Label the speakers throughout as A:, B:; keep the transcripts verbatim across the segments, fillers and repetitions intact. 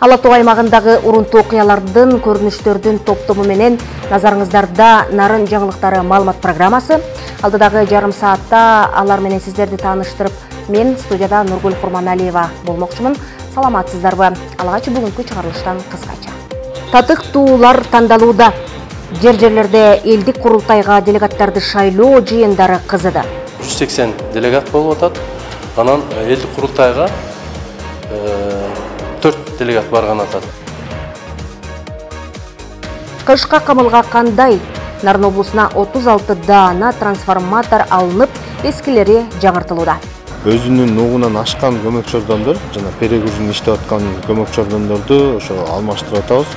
A: Ала Тоо аймагындагы урунтуу окуялардын, көрүнүштөрдүн топтому менен назарыңыздарда Нарын жаңылыктары маалымат программасы. Алдыдагы жарым саатта алар менен сиздерди тааныштырып, мен студияда Нургүл Курманалиева болмокчумун. Саламатсыздарбы? Алгачы бүгүнкү чыгарылыштан кыскача. Татыктуулар тандалууда. Жер-жерлерде элдик курултайга делегаттарды шайлоо жыйындары кызыды.
B: жүз сексен делегат болуп атат. Анан элдик курултайга төрт делегат барган атат.
A: Кышка камылга кандай? Нарын облусуна отуз алты даана трансформатор алынып, эскилери жаңыртылууда.
C: Өзүнүн нугунан ашкан көмөк чордондор жана перегрузун иштеп аткан көмөк чордондорду ошо алмаштырып атабыз.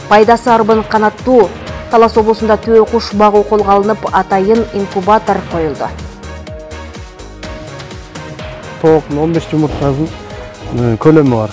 A: Пайдасы арбын канаттуу. Талас облусунда төө куш багуу колго алынып, атайын инкубатор коюлду.
D: Тооктун он беш жумурткасынын көлөмү бар.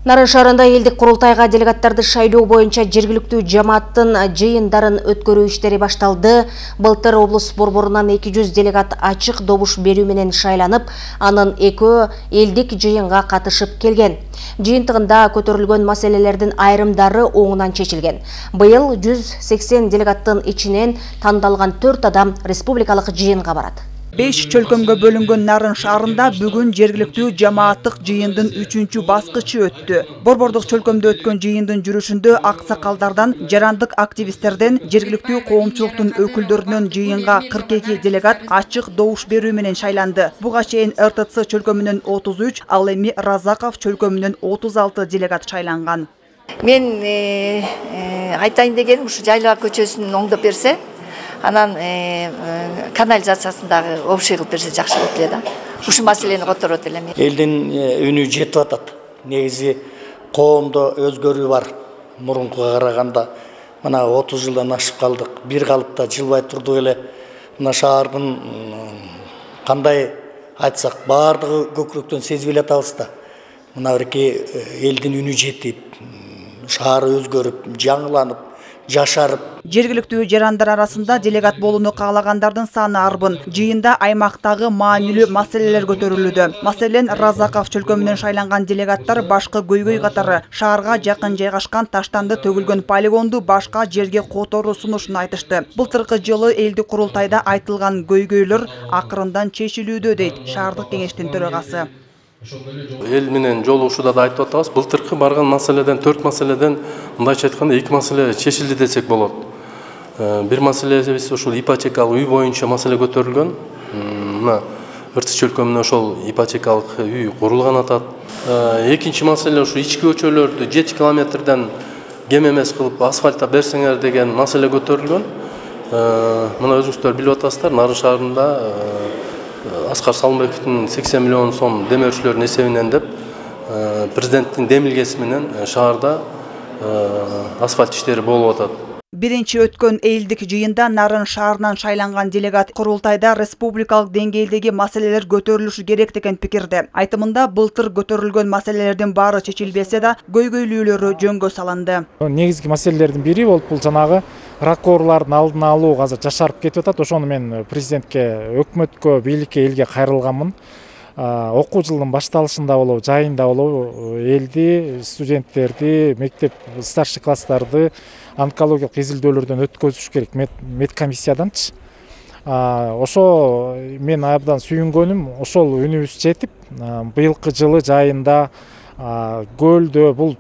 A: Нарын шаарында элдик курултайга делегаттарды шайлоо боюнча жергиликтүү жамааттын жыйындарын өткөрүү иштери башталды. Былтыр облус борборунан эки жүз делегат ачык добуш берүү менен шайланып, анын экөө элдик жыйынга катышып келген. Жыйынтыгында көтөрүлгөн маселелердин айрымдары оңунан чечилген. Быйыл жүз сексен делегаттын ичинен тандалган төрт адам республикалык жыйынга барат.
E: беш чөлкөмгө бөлүнгөн Нарын шаарында бүгүн жергиликтүү жамааттык жыйындын үчүнчү баскычы өттү. Борбордук чөлкөмдө өткөн жыйындын жүрүшүндө аксакалдардан, жарандык активисттерден, жергиликтүү коомчулуктун өкүлдөрүнөн жыйынга кырк эки делегат ачык добуш берүү менен шайланды. Буга чейин эр тэ цэ чөлкөмүнөн отуз үч, ал эми Разаков чөлкөмүнөн отуз алты делегат шайланган.
F: Мен айтайын дегеним, ушу Жайлаа көчөсүн оңдоп берсе, анан канализациясындагы общий кылып берсе жакшы болот эле да. Ушу маселени которот элем.
G: Элдин үнү жетип атат. Негизи коомдо өзгөрүү бар. Мурункуга караганда мына отуз жылдан ашып калдык. Бир калыпта жылбай турдук эле. Мына шаардын кандай айтсак, баардыгы көкүрөктөн сезип эле атабыз да. Мына бирки элдин үнү жетип, шаар өзгөрүп, жаңыланып, жашарып.
E: Жергиликтүү жарандар арасында делегат болууну каалагандардын саны арбын. Жыйында аймактагы маанилүү маселелер көтөрүлүүдө. Маселен, Разаков чөлкөмүнөн шайланган делегаттар башкы көйгөй катары шаарга жакын жайгашкан таштанды төгүлгөн полигонду башка жерге которуу сунушун айтышты. Былтыркы жылы элдик курултайда айтылган көйгөйлөр акырындан чечилүүдө дейт шаардык кеңештин төрагасы.
B: Эл менен жолугушууда да айтып атабыз. Былтыркы барган маселеден, төрт маселеден, мындайча айтканда эки маселе чечилди десек болот. Бир маселебиз ошол ипотекалык үй боюнча маселе көтөрүлгөн. Мына Ыртыс чөлкөмүнө ошол ипотекалык үй курулган атат. Экинчи маселе ушу ички көчөлөрдү жети километрден кем эмес кылып асфальтта берсеңер деген маселе көтөрүлгөн. Мына өзүңүздөр билип атасыздар, Нарын шаарында Аскар Салымбековдун сексен миллион сом демөөрчүлөрдүн эсебинен деп президенттин демилгеси менен шаарда асфальт иштери болуп атат.
E: Биринчи өткөн элдик жыйында Нарын шаарынан шайланган делегат курултайда республикалык деңгээлдеги маселелер көтөрүлүшү керек деген пикирде. Айтымында былтыр көтөрүлгөн маселелердин баары чечилбесе да, көйгөйлүүлөрү жөнгө салынды.
D: Негизги маселелердин бири болуп бул жанагы ракорлардын алдын алуу азыр жашарып кетип атат. Ошону мен президентке, өкмөткө, бийликке, элге кайрылганмын. Окуу жылдын башталышында болобу, жайында болобу, элди, студенттерди, мектеп старший класстарды онкологиялык изилдөөлөрдөн өткөзүш керек медкомиссияданчы. Ошо мен абдан сүйүнгөнүм, ошол үнүбүз жетип, быйылкы жылы жайында көлдө бул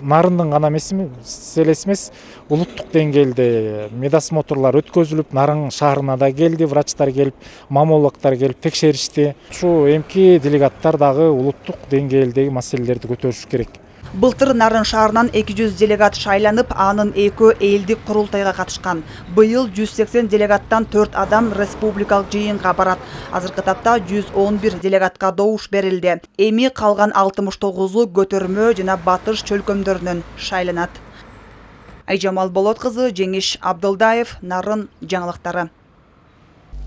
D: Нарындын гана маселеси эмес, улуттук деңгээлде медосмотрлар өткөзүлүп, Нарын шаарына да келди, врачтар келип, маммологдор келип текшеришти. Ушу эмки делегаттар дагы улуттук деңгээлдеги маселелерди көтөрүш керек.
E: Былтыр Нарын шаарынан эки жүз делегат шайланып, анын экөө элдик курултайга катышкан. Быйыл жүз сексен делегаттан төрт адам республикалык жыйынга барат. Азыркы тапта жүз он бир делегатка добуш берилди. Эми калган алтымыш тогузу көтөрмө жана батыш чөлкөмдөрүнөн шайланат. Айжамал Болот кызы, Жеңиш Абдылдаев, Нарын жаңылыктары.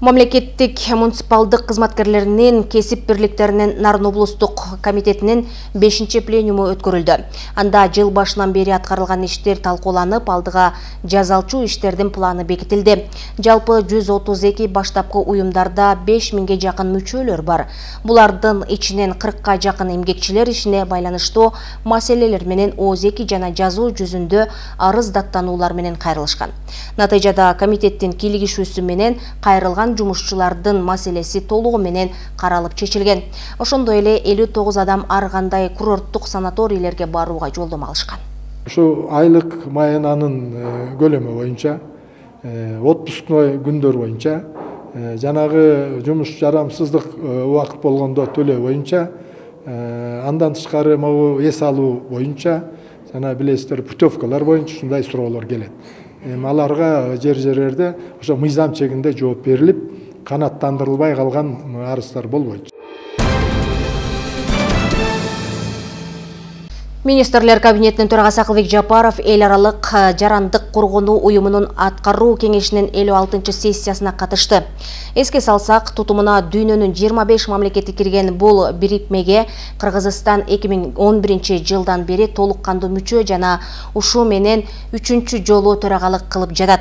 A: Мамлекеттик муниципалдык кызматкерлеринин кесип бирликтеринин Нарын облустук комитетинин бешинчи пленуму өткөрүлдү. Анда жыл башынан бери аткарылган иштер талкууланып, алдыга жазалчу иштердин планы бекитилди. Жалпы жүз отуз эки баштапкы уюмдарда беш миңге жакын мүчөлөр бар. Булардын ичинен кыркка жакын эмгекчилер ишине байланыштуу маселелер менен ООЗ-эки жана жазуу жүзүндө арыз даттануулар менен кайрылышкан. Натыйжада комитеттин кийлигишүүсү менен кайрылган жумушчулардын маселеси толугу менен каралып чечилген. Ошондой эле элүү тогуз адам ар кандай курорттук санаторийлерге барууга жолдомо алышкан.
H: Ушу айлык маянанын көлөмү боюнча, отпускной күндөр боюнча, жанагы жумуш жарамсыздык убакыт болгондо төлөө боюнча, андан тышкары могу эс алуу боюнча, жана билесиздер путевкалар боюнча ушундай суроолор келет. Аларга жер жерлерде ошо мыйзам чегинде жооп берилип, канааттандырылбай калган арыздар болбойт.
A: Министрлер кабинетинин төрагасы Акылбек Жапаров эл аралык жарандык коргонуу уюмунун аткаруу кеңешинин элүү алтынчы сессиясына катышты. Эске салсак, тутумуна дүйнөнүн жыйырма беш мамлекети кирген бул бирикмеге Кыргызстан эки миң он биринчи жылдан бери толук кандуу мүчө жана ушул менен үчүнчү жолу төрагалык кылып жатат.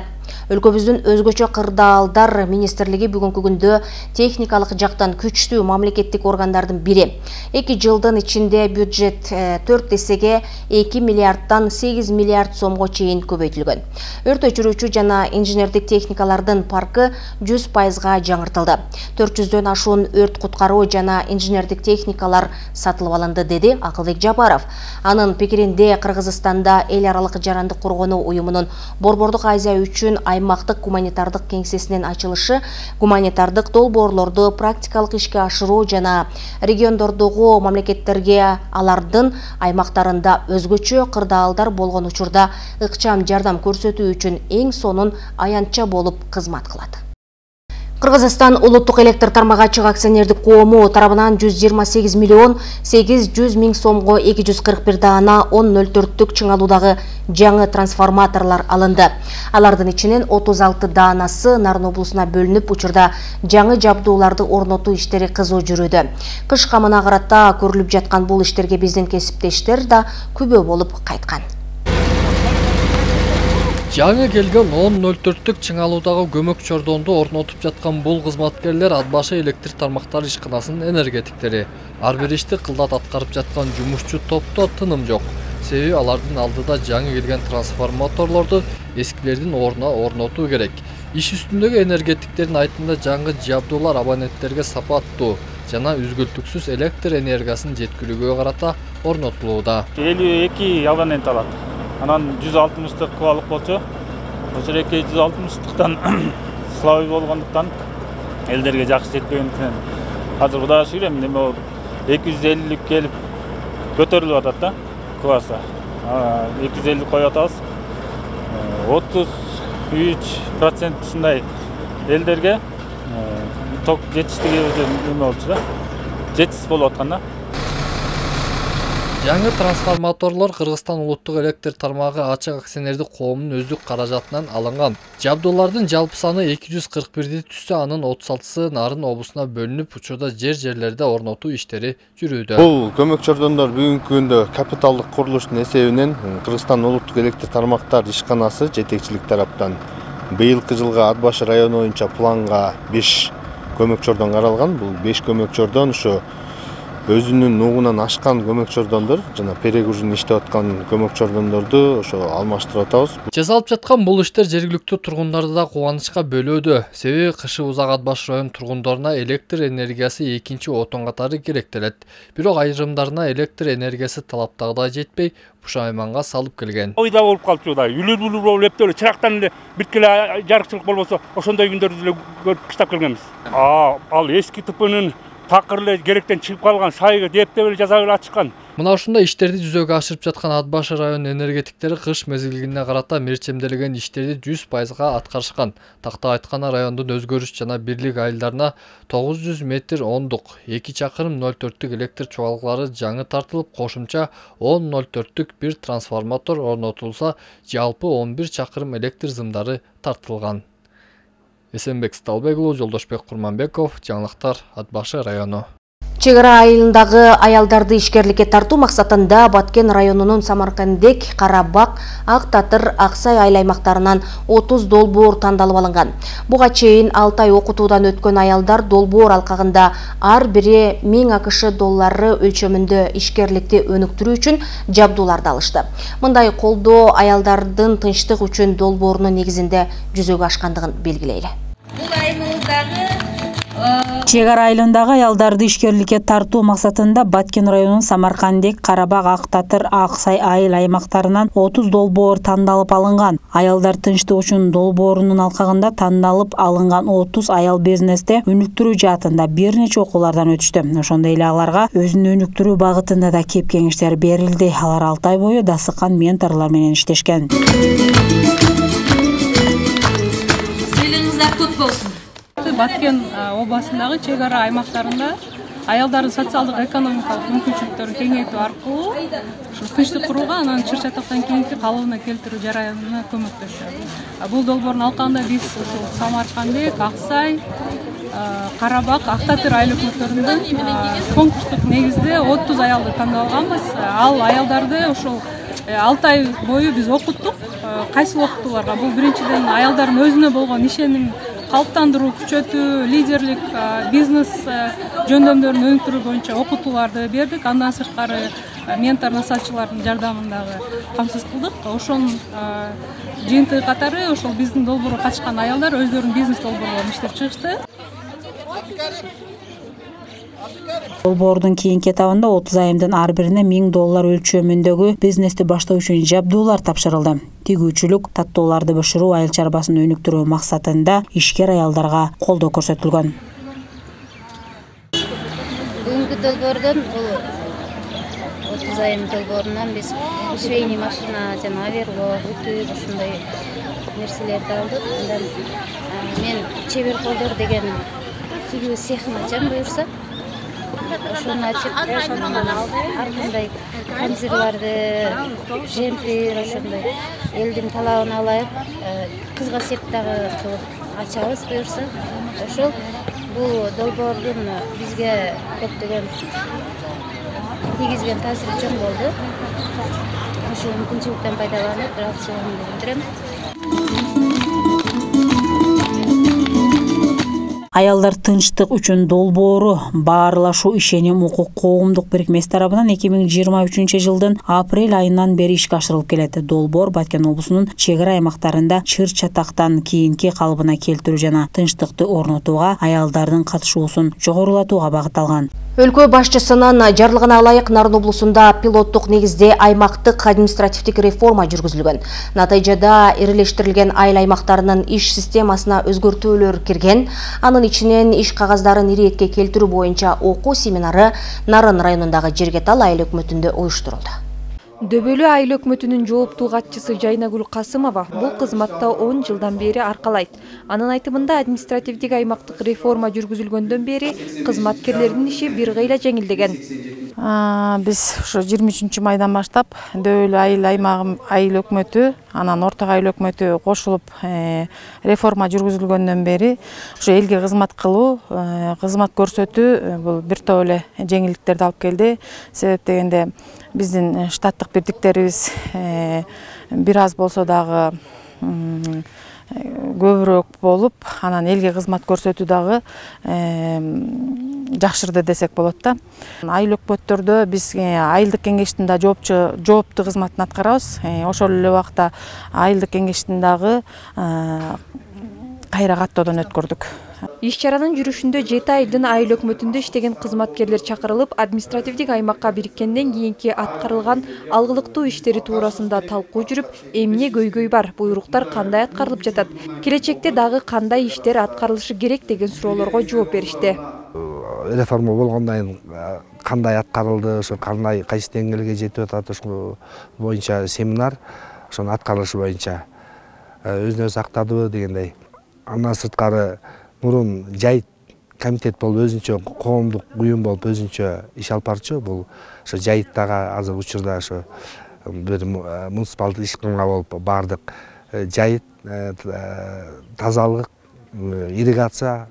A: Өлкөбүздүн өзгөчө кырдаалдар министрлиги бүгүнкү күндө техникалык жактан күчтүү мамлекеттик органдардын бири. эки жылдын ичинде бюджет төрт эсеге эки миллиарддан сегиз миллиард сомго чейин көбөйтүлгөн. Өрт өчүрүүчү жана инженердик техникалардын паркы жүз пайызга жаңыртылды. төрт жүздөн ашуун өрт куткаруу жана инженердик техникалар сатылып алынды, деди Акылбек Жапаров. Анын пикиринде Кыргызстанда эл аралык жарандык коргонуу уюмунун Борбордук Азия үчүн аймактык гуманитардык кеңсесинин ачылышы гуманитардык долбоорлорду практикалык ишке ашыруу жана региондордогу мамлекеттерге алардын аймактарында өзгөчө кырдаалдар болгон учурда ыкчам жардам көрсөтүү үчүн эң сонун аянтча болуп кызмат кылат. Кыргызстан улуттук электр тармагы ачык акционердик коому тарабынан жүз жыйырма сегиз миллион сегиз жүз миң сомго эки жүз кырк бир даана он ноль төрттүк чыңалуудагы жаңы трансформаторлор алынды. Алардын ичинен отуз алты даанасы Нарын облусуна бөлүнүп, учурда жаңы жабдууларды орнотуу иштери кызуу жүрүүдө. Кыш камына карата көрүлүп жаткан бул иштерге биздин кесиптештер да күбө болуп кайткан.
I: Жаңы келген он ноль төрттүк чыңалуудагы көмөк чордонду орнотуп жаткан бул кызматкерлер ат башы электр тармактары ишканасынын энергетиктери. Ар бир ишти кылдат аткарып жаткан жумушчу топто тыным жок. Себеби алардын алдыда жаңы келген трансформаторлорду эскилердин ордуна орнотуу керек. Иш үстүндөгү энергетиктердин айтымында жаңы жабдуулар абоненттерге сапаттуу жана үзгүлтүксүз электр энергиясын жеткирүүгө карата орнотулууда.
J: элүү эки абонент алат. Анан жүз алтымыштык кубалык болчу. Ошол эки жүз алтымыштыктан слабый болгондуктан элдерге жакшы жетпегендиктен азыр Кудайга шүгүр эми неме болуп эки жүз элүүлүк келип көтөрүлүп атат да класса. эки жүз элүү коюп атабыз. отуз үч процент ушундай элдерге ток жетиштиги неме болчу да. Жетишсиз болуп аткан да.
I: Жаңы трансформаторлор Кыргызстан улуттук электр тармагы ачык акционердик коомунун өздүк каражатынан алынган. Жабдуулардын жалпы саны эки жүз кырк бирди түзсө, анын отуз алтысы Нарын облусуна бөлүнүп, учурда жер жерлерде орнотуу иштери жүрүүдө.
C: Бул көмөк чордондор бүгүнкү күндө капиталдык курулуштун эсебинен Кыргызстан улуттук электр тармактар ишканасы жетекчилик тараптан быйылкы жылга Ат башы району боюнча планга беш көмөк чордон каралган. Бул беш көмөк чордон ушу өзүнүн нугунан ашкан көмөк чордондор жана перегружин иштеп аткан көмөк чордондорду ошо алмаштырып атабыз.
I: Жасалып жаткан бул иштер жергиликтүү тургундарды да кубанычка бөлөөдө. Себеби кышы узак Ат башы район тургундоруна электр энергиясы экинчи отон катары керектелет. Бирок айрымдарына электр энергиясы талаптагыдай жетпей, пушайманга салып келген.
J: Ойда болуп калчу да, үлүр-үлүр болуп эптеле чырактан эле биткеле жарыкчылык болбосо, ошондой күндөрдү эле көрүп кыштап келгенбиз. А, ал эски ТПнын такыр эле керектен чыгып калган сайга дептеп эле жаза эле ачыккан.
I: Мына ушундай иштерди жүзөгө ашырып жаткан Ат башы район энергетиктери кыш мезгилине карата мерчемделген иштерди жүз пайызга аткарышкан. Такта айтканда райондун өзгөрүш жана бирлик айылдарына тогуз жүз метр ондук, эки чакырым ноль төрттүк электр чубалыклары жаңы тартылып, кошумча он ноль төрттүк бир трансформатор орнотулса, жалпы он бир чакырым электр зымдары тартылган. Эсенбек Сталбек уулу, Жолдошбек Курманбеков, жаңылыктар Ат Башы району.
A: Чек ара айылындагы аялдарды ишкерликке тартуу максатында Баткен районунун Самаркандек, Карабак, Ак Татыр, Аксай айыл аймактарынан отуз долбоор тандалып алынган. Буга чейин алты ай окутуудан өткөн аялдар долбоор алкагында ар бири миң АКШ доллары өлчөмүндө ишкерликти өнүктүрүү үчүн жабдууларды алышты. Мындай колдоо аялдардын тынчтык үчүн долбоорунун негизинде жүзөгө ашкандыгын белгилейли.
K: Чек ара айылындагы аялдарды ишкерликке тартуу максатында Баткен районунун Самаркандек, Карабак, Ак Татыр, Аксай айыл аймактарынан отуз долбоор тандалып алынган. Аялдар тынчтык үчүн долбоорунун алкагында тандалып алынган отуз аял бизнесте өнүктүрүү жаатында бир нече окуулардан өтүштү. Ошондой эле аларга өзүн өнүктүрүү багытында да кеп кеңештер берилди. Алар алты ай бою дасыкан менторлор менен иштешкен.
L: Сыйлыгыңыздар көп болсун. Баткен областындагы чек ара аймактарында аялдардын социалдык экономикалык мүмкүнчүлүктөрүн кеңейтүү аркылуу тынчтык курууга, анан чыр чатактан кийинки калыбына келтирүү жараянына көмөктөшөт. Бул долбоордун алкагында биз ушул Самаркандек, Аксай, Карабак, Ак Татыр айыл өкмөттөрүндөн конкурстук негизде отуз аялды тандап алганбыз. Ал аялдарды ошол алты ай бою биз окуттук. Кайсыл окутууларга? Бул биринчиден аялдардын өзүнө болгон ишеним калыптандыруу, күчөтүү, лидерлик, бизнес жөндөмдөрүн өнүктүрүү боюнча окутууларды бердик. Андан сырткары ментор насаатчылардын жардамындагы камсыз кылдык. Ошонун жыйынтыгы катары ошол биздин долбоорго катышкан аялдар өздөрүнүн бизнес долбоорлорун иштеп чыгышты.
K: Долбоордун кийинки этабында отуз айымдын ар бирине миң доллар өлчөмүндөгү бизнести баштоо үчүн жабдуулар тапшырылды. Тигүүчүлүк, таттооларды бышыруу, айыл чарбасын өнүктүрүү максатында ишкер аялдарга колдоо көрсөтүлгөн.
M: Бүгүнкү долбоордон бул отуз айым долбоорунан биз швейный машина жана оверлок, үтүк ушундай нерселерди алдык. Андан мен чебер колдор деген тигүү цехин ачам буюрса. Ошону ачып, артындай камзырларды, жемпир, ошондой элдин талабына ылайык кызга сеп дагы кылып ачабыз буюрса. Ошол бул долбоордун бизге көптөгөн тийгизген таасири чоң болду. Ошол мүмкүнчүлүктөн пайдаланып, рахматымды билдирем.
K: Аялдар тынчтык үчүн долбоору баарлашуу ишеним укук коомдук бирикмеси тарабынан эки миң жыйырма үчүнчү жылдын апрель айынан бери ишке ашырылып келет. Долбоор Баткен облусунун чек ара аймактарында чыр чатактан кийинки калыбына келтирүү жана тынчтыкты орнотууга, аялдардын катышуусун жогорулатууга багытталган.
A: Өлкө башчысынын жарлыгына ылайык Нарын облусунда пилоттук негизде аймактык административдик реформа жүргүзүлгөн. Натыйжада ирилештирилген айыл аймактарынын иш системасына өзгөртүүлөр кирген. Анын ичинен иш кагаздарын иретке келтирүү боюнча окуу семинары Нарын районундагы Жергетал айыл өкмөтүндө уюштурулду.
N: Дөбөлүү айыл өкмөтүнүн жооптуу катчысы Жайнагүл Касымова бул кызматта он жылдан бери аркалайт. Анын айтымында административдик аймактык реформа жүргүзүлгөндөн бери кызматкерлердин иши бир кыйла жеңилдеген.
O: Биз ушу жыйырма үчүнчү майдан баштап дөбөлүү айыл аймагы айыл өкмөтү, анан орток айыл өкмөтү кошулуп реформа жүргүзүлгөндөн бери ушу элге кызмат кылуу, кызмат көрсөтүү бул бир топ эле жеңилдиктерди алып келди. Себеп дегенде биздин штаттык бирдиктерибиз бир аз болсо дагы көбүрөөк болуп, анан элге кызмат көрсөтүү дагы жакшырды десек болот да. Айыл өкмөттөрдө биз айылдык кеңештин да жооптчу жооптуу кызматын аткарабыз. Ошол эле убакта айылдык кеңештин дагы кайра каттоодон өткөрдүк.
N: Иш чаранын жүрүшүндө жети айдын айыл өкмөтүндө иштеген кызматкерлер чакырылып, административдик аймакка бириткенден кийинки аткарылган алгылыктуу иштери туурасында талкуу жүрүп, эмне көйгөй бар, буйруктар кандай аткарылып жатат, келечекте дагы кандай иштер аткарылышы керек деген суроолорго жооп беришти.
P: Реформа болгондон кийин кандай аткарылды, ошо кандай кайсы деңгээлге жетип атат, ошол боюнча семинар, ошонун аткарылышы боюнча өзүн өзү актадыбы дегендей. Андан сырткары мурун жайыт комитет болуп өзүнчө коомдук уюм болуп өзүнчө иш алып барчу. Бул ошо жайыттагы азыр учурда ошо бир муниципалдык ишканга болуп бардык жайыт тазалык ирригация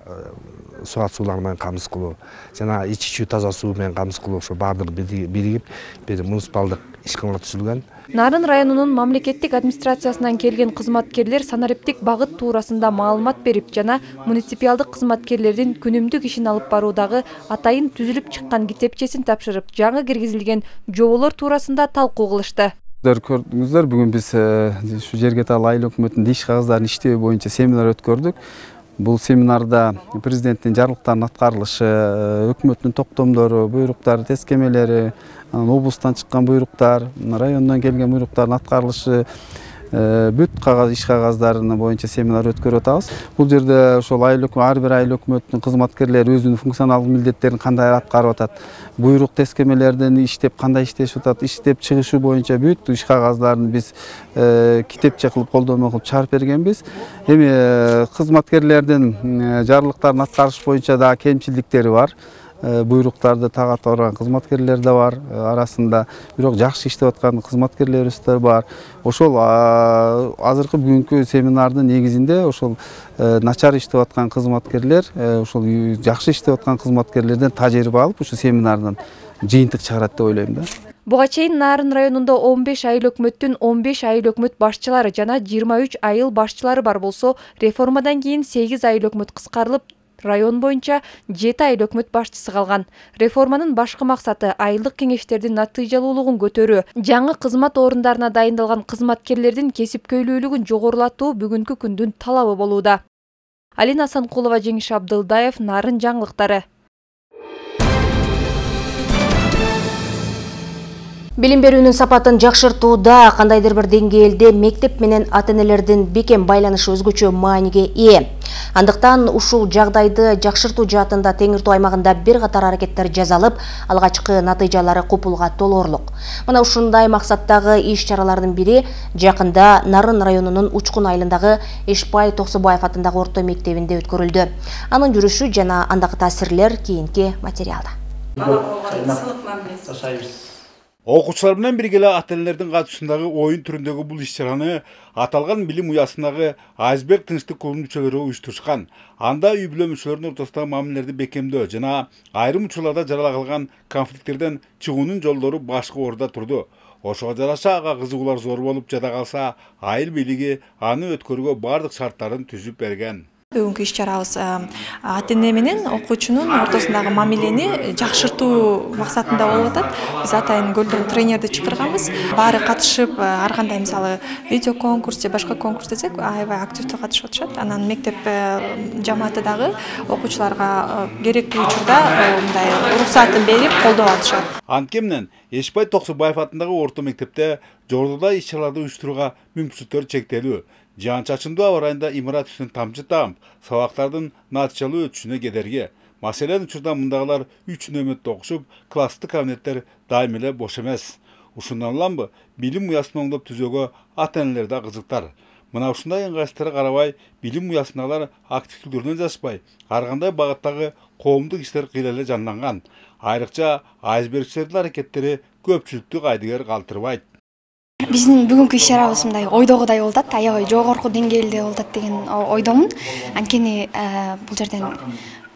P: суат суулары менен камсыз кылуу жана ичүүчү таза суу менен камсыз кылуу ошо баардыгы биригип бир муниципалдык ишкана түзүлгөн.
N: Нарын районунун мамлекеттик администрациясынан келген кызматкерлер санариптик багыт туурасында маалымат берип жана муниципалдык кызматкерлердин күнүмдүк ишин алып баруудагы атайын түзүлүп чыккан китепчесин тапшырып, жаңы киргизилген жоболор туурасында талкуу кылышты.
Q: Көрдүңүздөр, бүгүн биз ушу жерге таалуу айыл өкмөтүнүн иш кагыздарын иштөө боюнча семинар өткөрдүк. Бул семинарда президенттин жарлыктарынын аткарылышы, өкмөттүн токтомдору, буйруктары, тескемелери, облустан чыккан буйруктар, райондон келген буйруктардын аткарылышы, бүт кагаз иш кагаздарына боюнча семинар өткөрүп атабыз. Бул жерде ошол айыл ар бир айыл өкмөтүнүн кызматкерлери өзүнүн функционалдык милдеттерин кандай аткарып атат, буйрук тескемелерден иштеп кандай иштешип атат, иштеп чыгышы боюнча бүт иш кагаздарын биз китепче кылып колдонмо кылып чыгарып бергенбиз. Эми кызматкерлердин жарлыктарын аткарыш боюнча дагы кемчиликтери бар. Буйруктарды тагат барган кызматкерлер да бар арасында, бирок жакшы иштеп аткан кызматкерлерибиз да бар. Ошол азыркы бүгүнкү семинардын негизинде ошол начар иштеп аткан кызматкерлер, ошол жакшы иштеп аткан кызматкерлерден тажрыйба алып, ушу семинардан жыйынтык чыгарат деп ойлойм да.
N: Буга чейин Нарын районунда он беш айыл өкмөттүн он беш айыл өкмөт башчылары жана жыйырма үч айыл башчылары бар болсо, реформадан кийин сегиз айыл өкмөт кыскарылып, район боюнча жети айыл өкмөт башчысы калган. Реформанын башкы максаты айылдык кеңештердин натыйжалуулугун көтөрүү, жаңы кызмат орундарына дайындалган кызматкерлердин кесипкөйлүүлүгүн жогорулатуу бүгүнкү күндүн талабы болууда. Алина Санкулова, Жеңиш Абдылдаев, Нарын жаңылыктары.
A: Билим берүүнүн сапатын жакшыртууда кандайдыр бир деңгээлде мектеп менен ата-энелердин бекем байланышы өзгөчө мааниге ээ. Андыктан ушул жагдайды жакшыртуу жаатында Теңир Тоо аймагында бир катар аракеттер жасалып, алгачкы натыйжалары купулга толоорлук. Мына ушундай максаттагы иш-чаралардын бири жакында Нарын районунун Учкун айылындагы Эшпай Токсобаев атындагы орто мектебинде өткөрүлдү. Анын жүрүшү жана андагы таасирлер кийинки материалда.
R: Окуучулар менен бирге эле ата-энелердин катышуусундагы оюн түрүндөгү бул иш-чараны аталган билим уясындагы Айсберг тынчтык клубунун мүчөлөрү уюштурушкан. Анда үй бүлө мүчөлөрүнүн ортосундагы мамилелерди бекемдөө жана айрым учурларда жарала калган конфликттерден чыгуунун жолдору башкы орунда турду. Ошого жараша ага кызыгуулар зор болуп жада калса, айыл бийлиги аны өткөрүүгө бардык шарттарын түзүп берген.
S: Бүгүнкү иш-чарабыз ата-эне менен окуучунун ортосундагы мамилени жакшыртуу максатында болуп атат. Биз атайын көлдөн тренерди чакырганбыз. Баары катышып, ар кандай мисалы видео конкурс же башка конкурс десек, аябай активдүү катышып атышат. Анан мектеп жамааты дагы окуучуларга керектүү учурда мындай уруксатын берип колдоп атышат.
R: Анткени менен Эшпай Токсобаев атындагы орто мектепте жогоруда иш-чараларды уюштурууга мүмкүнчүлүктөр чектелүү. Жаан-чачындуу аба ырайында имарат үстүнөн тамчы таап, сабактардын натыйжалуу өтүшүнө кедерги. Маселен, учурда мындагылар үч нөмөттө окушуп, класстык кабинеттер дайым эле бош эмес. Ушундан уламбы, билим уясын оңдоп түзөөгө ата-энелер да кызыктар. Мына ушундай ыңгайсыздарга карабай, билим уясындагылар активдүүлөрүнөн жаспай, ар кандай багыттагы коомдук иштер кыйла эле жанданган. Айрыкча айсбергчилердин аракеттери көпчүлүктү кайдыгер калтырбайт.
T: Биздин бүгүнкү иш-чарабыз мындай ойдогудай болуп атат, аябай жогорку деңгээлде болуп атат деген ойдомун. Анткени бул жерден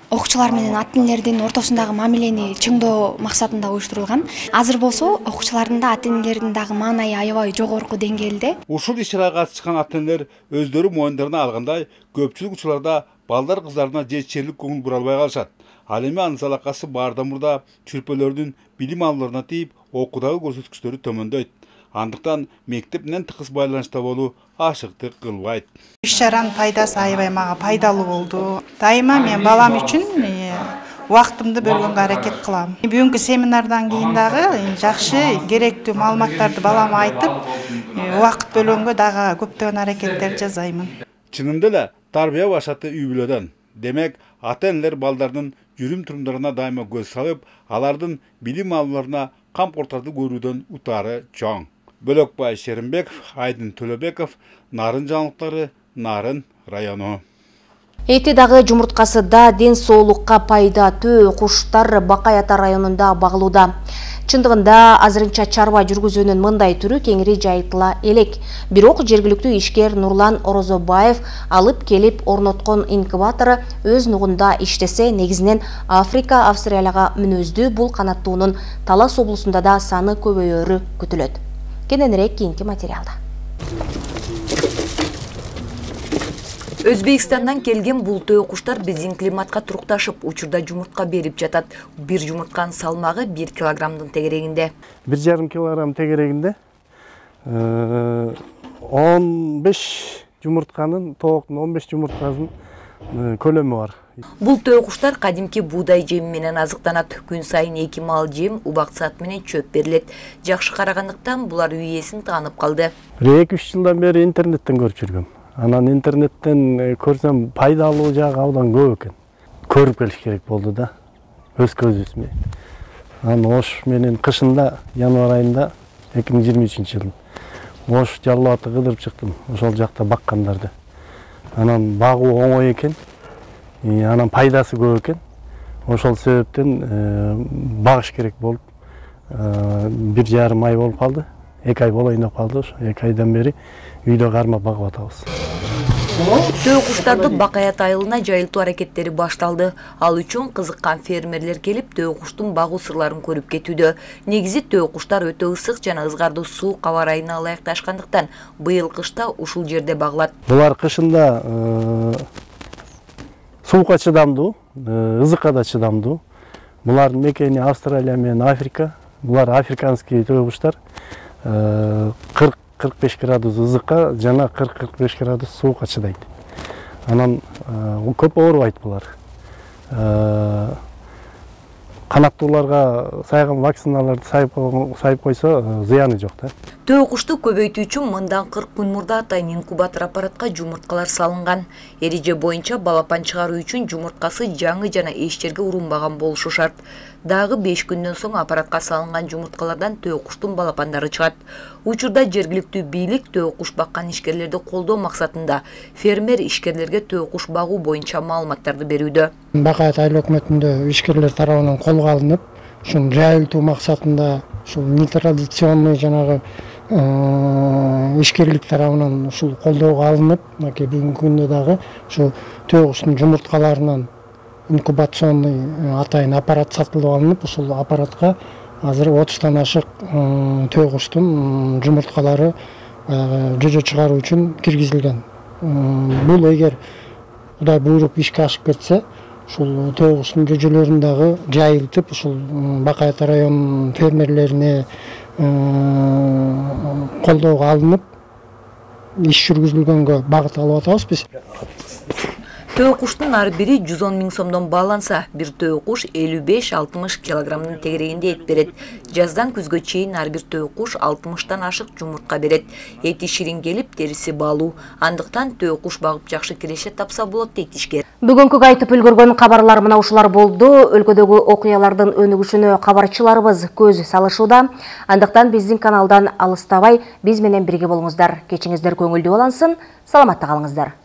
T: окуучулар менен ата-энелердин ортосундагы мамилени чыңдоо максатында уюштурулган. Азыр болсо окуучулардын да ата-энелердин дагы маанайы аябай жогорку деңгээлде.
R: Ушул иш-чарага катышкан ата-энелер өздөрү моюндарына алгандай, көпчүлүк учурларда балдар кыздарына жетишерлик көңүл бура албай калышат. Ал эми анын залакасы баардан мурда чүрпөлөрдүн билим алууларына тийип, окуудагы көрсөткүчтөрү төмөндөйт. Андыктан мектеп менен тыгыз байланышта болуу ашыктык кылбайт.
U: Иш-чаранын пайдасы аябай мага пайдалуу болду. Дайыма мен балам үчүн убактымды бөлгөнгө аракет кылам. Бүгүнкү семинардан кийин дагы жакшы, керектүү маалыматтарды балама айтып, убакыт бөлгөнгө дагы көптөгөн аракеттер жасаймын.
R: Чынында эле тарбия башаты үй бүлөдөн. Демек, ата-энелер балдардын жүрүм-турумдарына дайыма көз салып, алардын билим алууларына камкортарды көрүүдөн утаары чоң. Бөлөкбай Шеримбеков, Айдын Төлөбеков, Нарын жаңылыктары, Нарын району.
A: Эти дагы жумурткасы да ден соолукка пайдаттуу куштар Бакай Ата районунда багылууда. Чындыгында азырынча чарба жүргүзүүнүн мындай түрү кеңири жайылтыла элек. Бирок жергиликтүү ишкер Нурлан Орозобаев алып келип орноткон инкубатору өз нугунда иштесе, негизинен Африка, Австралияга мүнөздүү бул канаттуунун Талас облусунда да саны көбөйөрү күтүлөт. Кененирээк кийинки материалда.
F: Өзбекстандан келген бул төө куштар биздин климатка турукташып, учурда жумуртка берип жатат. Бир жумуртканын салмагы бир килограммдын тегерегинде.
V: бир жарым килограмм тегерегинде он беш жумуртканын, тооктун он беш жумурткасынын көлөмү бар.
F: Бул төө куштар кадимки буудай жеми менен азыктанат. Күн сайын эки мал жем, убак саат менен чөп берилет. Жакшы карагандыктан булар үй ээсин таанып калды.
V: эки үч жылдан бери интернеттен көрүп жүргөм. Анан интернеттен көрсөм пайдалуу жагы абдан көп экен. Көрүп келиш керек болду да. Өз көзүбүз менен. Анан ош менен кышында, январь айында эки миң жыйырма үчүнчү жылдын ош Жалал Абадты кыдырып чыктым. Ошол жакта баккандарды. Анан багуу оңой экен. Анан пайдасы көп экен. Ошол себептен багыш керек болуп бир жарым ай болуп калды. эки ай болоюн деп калды. Ошо эки айдан бери үйдө кармап багып атабыз.
F: Төө куштарды Бакаят айылына жайылтуу аракеттери башталды. Ал үчүн кызыккан фермерлер келип төө куштун багуу сырларын көрүп кетүүдө. Негизи төө куштар өтө ысык жана ызгардуу суук аба ырайына ылайыкташкандыктан быйыл кышта ушул жерде багылат.
V: Булар кышында суукка чыдамдуу, ызыкка да чыдамдуу. Булардын мекени Австралия менен Африка. Булар африканский төө куштар. кырк кырк беш градус ызыкка жана кырк кырк беш градус суукка чыдайт. Анан көп оорубайт булар. Канаттууларга сайган вакциналарды сайып койсо зыяны жок да.
F: Төө кушту көбөйтүү үчүн мындан кырк күн мурда атайын инкубатор аппаратка жумурткалар салынган. Эреже боюнча балапан чыгаруу үчүн жумурткасы жаңы жана эч жерге урунбаган болушу шарт. Дагы беш күндөн соң аппаратка салынган жумурткалардан төө куштун балапандары чыгат. Учурда жергиликтүү бийлик төө куш баккан ишкерлерди колдоо максатында фермер ишкерлерге төө куш багуу боюнча маалыматтарды берүүдө.
W: Бакаят айыл өкмөтүндө ишкерлер тарабынан колго алынып, ушун жайылтуу максатында ушул нетрадиционный жанагы ишкерлик тарабынан ушул колдоого алынып, мынакей бүгүнкү күндө дагы ушу төө куштун жумурткаларынан инкубационный атайын аппарат сатылып алынып, ушул аппаратка азыр отуздан ашык төө куштун жумурткалары жөжө чыгаруу үчүн киргизилген. Бул эгер Кудай буйруп ишке ашып кетсе, ушул төө куштун жөжөлөрүн дагы жайылтып, ушул Бакаят районунун фермерлерине колдоого алынып, иш жүргүзүлгөнгө багыт алып атабыз биз.
F: Төө куштун ар бири жүз он миң сомдон бааланса, бир төө куш элүү беш алтымыш килограммдын тегерегинде эт берет. Жаздан күзгө чейин ар бир төө куш алтымыштан ашык жумуртка берет. Эти ширин келип, териси баалуу. Андыктан төө куш багып жакшы киреше тапса болот дейт ишкер.
A: Бүгүнкү айтып үлгөргөн кабарлар мына ушулар болду. Өлкөдөгү окуялардын өнүгүшүнө кабарчыларыбыз көз салышууда. Андыктан биздин каналдан алыстабай, биз менен бирге болуңуздар. Кечиңиздер көңүлдүү улансын. Саламатта калыңыздар.